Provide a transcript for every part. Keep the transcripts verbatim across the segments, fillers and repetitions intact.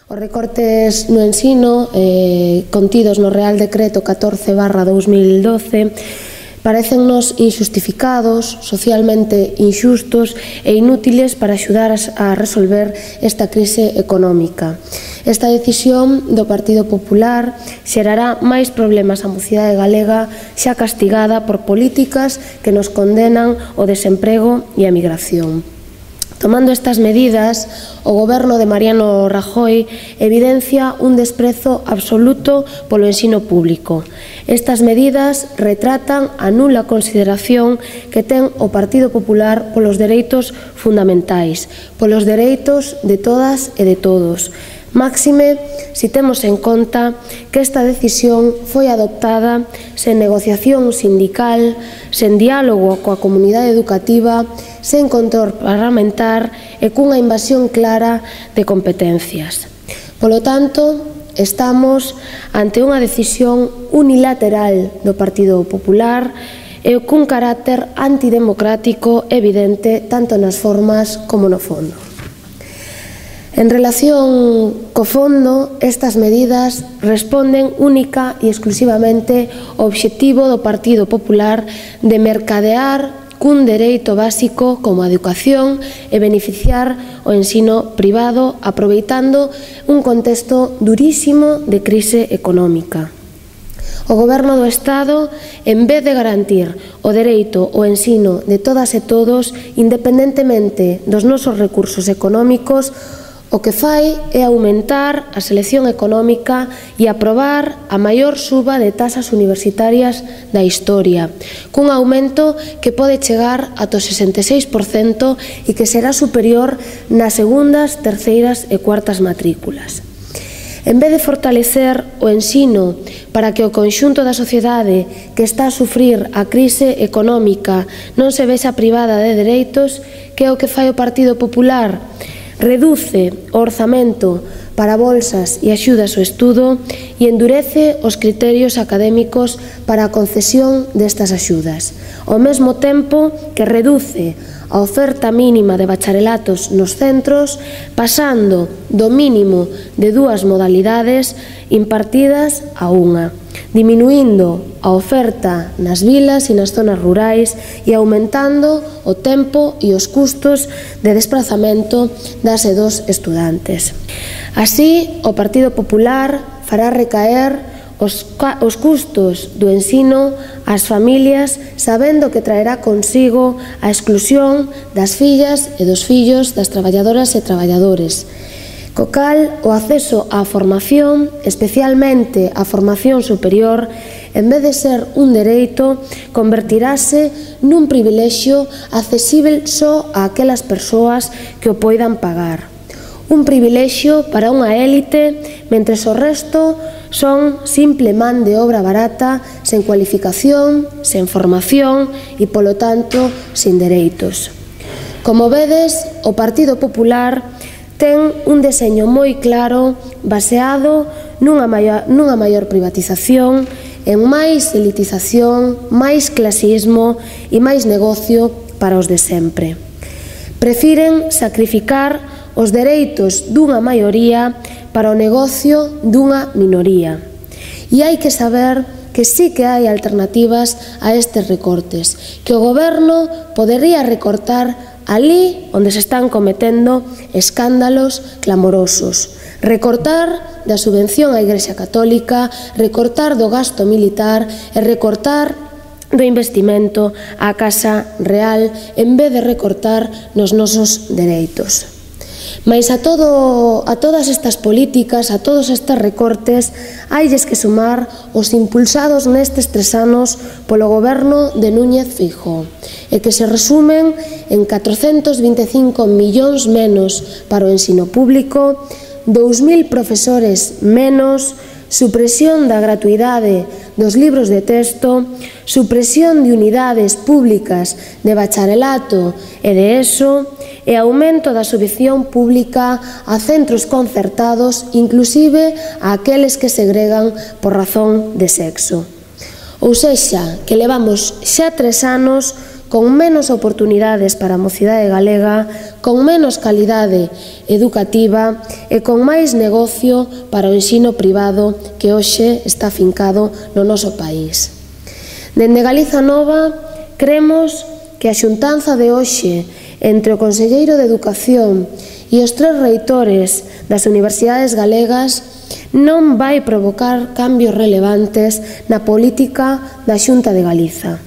Os recortes no ensino eh, contidos no Real Decreto catorce barra dous mil doce parecennos injustificados, socialmente inxustos e inútiles para axudar a resolver esta crise económica. Esta decisión do Partido Popular xerará máis problemas á mocidade galega xa castigada por políticas que nos condenan ao desemprego e a migración. Tomando estas medidas, o goberno de Mariano Rajoy evidencia un desprezo absoluto polo ensino público. Estas medidas retratan a nula consideración que ten o Partido Popular polos dereitos fundamentais, polos dereitos de todas e de todos. Máxime si temos en conta que esta decisión foi adoptada sen negociación sindical, sen diálogo coa comunidade educativa, sen control parlamentar e cunha invasión clara de competencias. Polo tanto, estamos ante unha decisión unilateral do Partido Popular e cun carácter antidemocrático evidente tanto nas formas como no fondo. En relación co fondo, estas medidas responden única e exclusivamente ao obxectivo do Partido Popular de mercadear cun dereito básico como a educación e beneficiar o ensino privado aproveitando un contexto durísimo de crise económica. O Goberno do Estado, en vez de garantir o dereito ao ensino de todas e todos, independentemente dos nosos recursos económicos, o que fai é aumentar a selección económica e aprobar a maior suba de tasas universitarias da historia, cun aumento que pode chegar ata o sesenta e seis por cento e que será superior nas segundas, terceiras e cuartas matrículas. En vez de fortalecer o ensino para que o conxunto da sociedade que está a sufrir a crise económica non se vexa privada de dereitos, que é o que fai o Partido Popular, reduce o orzamento para bolsas e axudas ao estudo e endurece os criterios académicos para a concesión destas axudas, ao mesmo tempo que reduce a oferta mínima de bacharelatos nos centros, pasando do mínimo de dúas modalidades impartidas a unha, diminuindo a oferta nas vilas e nas zonas rurais e aumentando o tempo e os custos de desplazamento das e dos estudantes. Así, o Partido Popular fará recaer os, os custos do ensino ás familias, sabendo que traerá consigo a exclusión das fillas e dos fillos das traballadoras e traballadores. Co cal, o acceso á formación, especialmente á formación superior, en vez de ser un dereito, convertirase nun privilexio accesível só a aquelas persoas que o poidan pagar. Un privilexio para unha élite, mentres o resto son simple man de obra barata, sen cualificación, sen formación e, polo tanto, sin dereitos. Como vedes, o Partido Popular ten un deseño moi claro baseado nunha maior, nunha maior privatización, en máis elitización, máis clasismo e máis negocio para os de sempre. Prefiren sacrificar os dereitos dunha maioría para o negocio dunha minoría. E hai que saber que sí que hai alternativas a estes recortes, que o Goberno podería recortar alí onde se están cometendo escándalos clamorosos. Recortar da subvención á Igrexa Católica, recortar do gasto militar e recortar do investimento á Casa Real en vez de recortar nos nosos dereitos. Mais a, todo, a todas estas políticas, a todos estes recortes, hailles que sumar os impulsados nestes tres anos polo goberno de Núñez Feijóo, e que se resumen en catrocentos vinte e cinco millóns menos para o ensino público, dous mil profesores menos, supresión da gratuidade dos libros de texto, supresión de unidades públicas de bacharelato e de ESO e aumento da subvención pública a centros concertados, inclusive a aqueles que segregan por razón de sexo. Ou sexa, que levamos xa tres anos con menos oportunidades para a mocidade galega, con menos calidade educativa e con máis negocio para o ensino privado que hoxe está fincado no noso país. Dende Galiza Nova, cremos que a xuntanza de hoxe entre o Conselleiro de Educación e os tres reitores das universidades galegas non vai provocar cambios relevantes na política da Xunta de Galiza.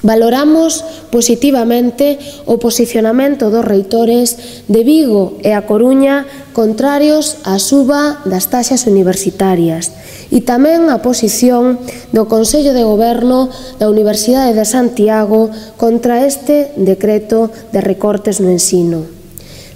Valoramos positivamente o posicionamento dos reitores de Vigo e A Coruña contrarios á suba das taxas universitarias e tamén a posición do Consello de Goberno da Universidade de Santiago contra este decreto de recortes no ensino.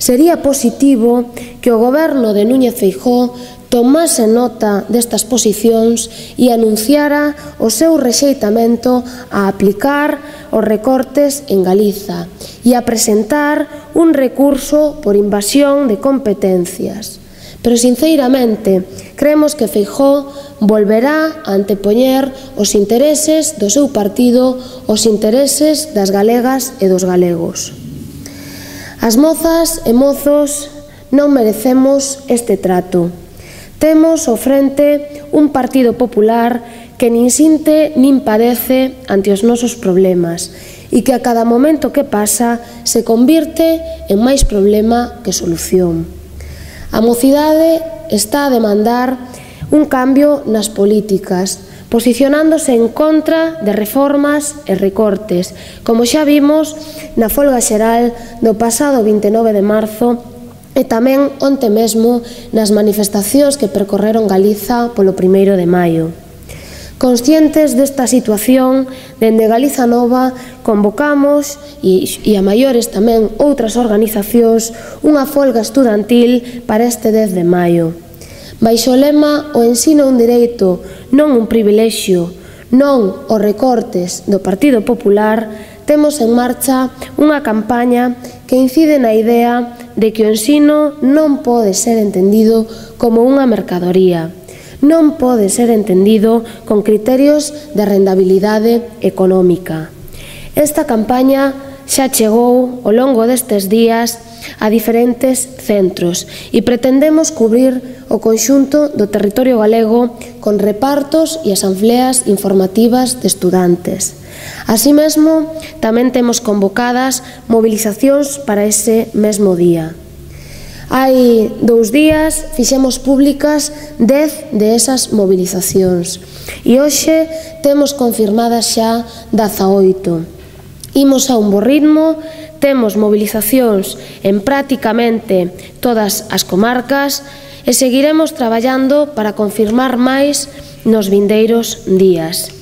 Sería positivo que o Goberno de Núñez Feijóo tomase nota destas posicións e anunciara o seu rexeitamento a aplicar os recortes en Galiza e a presentar un recurso por invasión de competencias. Pero, sinceramente, creemos que Feijóo volverá a antepoñer os intereses do seu partido aos intereses das galegas e dos galegos. As mozas e mozos non merecemos este trato. Temos ao frente un Partido Popular que nin sinte nin padece ante os nosos problemas e que a cada momento que pasa se convirte en máis problema que solución. A mocidade está a demandar un cambio nas políticas, posicionándose en contra de reformas e recortes, como xa vimos na folga xeral do pasado vinte e nove de marzo e tamén onte mesmo nas manifestacións que percorreron Galiza polo primeiro de maio. Conscientes desta situación, dende Galiza Nova convocamos, e a maiores tamén outras organizacións, unha folga estudantil para este dez de maio. Baixo o lema "O ensino é un dereito, non un privilexio", non os recortes do Partido Popular, temos en marcha unha campaña que incide na idea de que o ensino non pode ser entendido como unha mercadoría, non pode ser entendido con criterios de rentabilidade económica. Esta campaña xa chegou ao longo destes días a diferentes centros e pretendemos cubrir o conxunto do territorio galego con repartos e asambleas informativas de estudantes. Así mesmo, tamén temos convocadas movilizacións para ese mesmo día. Hai dous días fixemos públicas dez de esas movilizacións e hoxe temos confirmadas xa dezaoito. Imos a un bo ritmo, temos movilizacións en prácticamente todas as comarcas e seguiremos traballando para confirmar máis nos vindeiros días.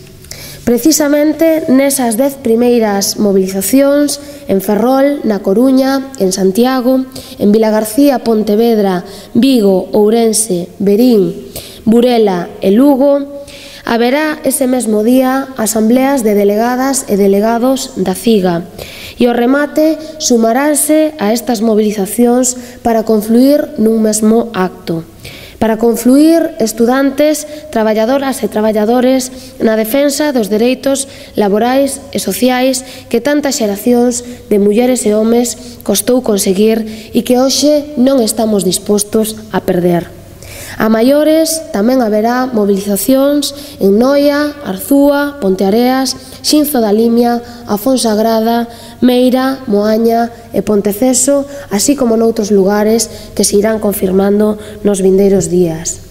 Precisamente nesas dez primeiras movilizacións, en Ferrol, na Coruña, en Santiago, en Vilagarcía, Pontevedra, Vigo, Ourense, Verín, Burela e Lugo, haberá ese mesmo día asambleas de delegadas e delegados da CIGA e o remate sumaránse a estas movilizacións para confluir nun mesmo acto. Para confluir estudantes, traballadoras e traballadores na defensa dos dereitos laborais e sociais que tantas xeracións de mulleres e homes costou conseguir e que hoxe non estamos dispostos a perder. A maiores tamén haberá movilizacións en Noia, Arzúa, Ponteareas, Xinzo da Limia, a Fonsagrada, Meira, Moaña e Ponteceso, así como noutros lugares que se irán confirmando nos vindeiros días.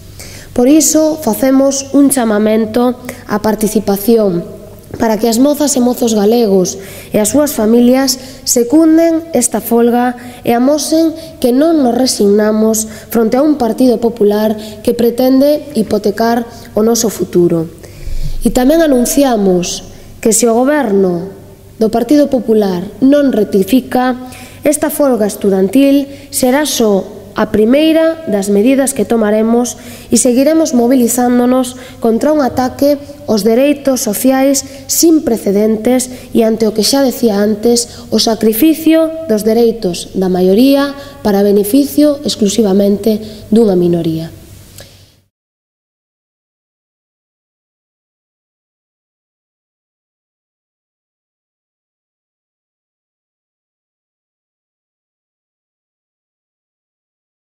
Por iso, facemos un chamamento á participación para que as mozas e mozos galegos e as súas familias secunden esta folga e amosen que non nos resignamos fronte a un Partido Popular que pretende hipotecar o noso futuro. E tamén anunciamos que se o Goberno do Partido Popular non rectifica, esta folga estudantil será só a primeira das medidas que tomaremos e seguiremos mobilizándonos contra un ataque aos dereitos sociais sin precedentes e ante o que xa decía antes, o sacrificio dos dereitos da maioría para beneficio exclusivamente dunha minoría.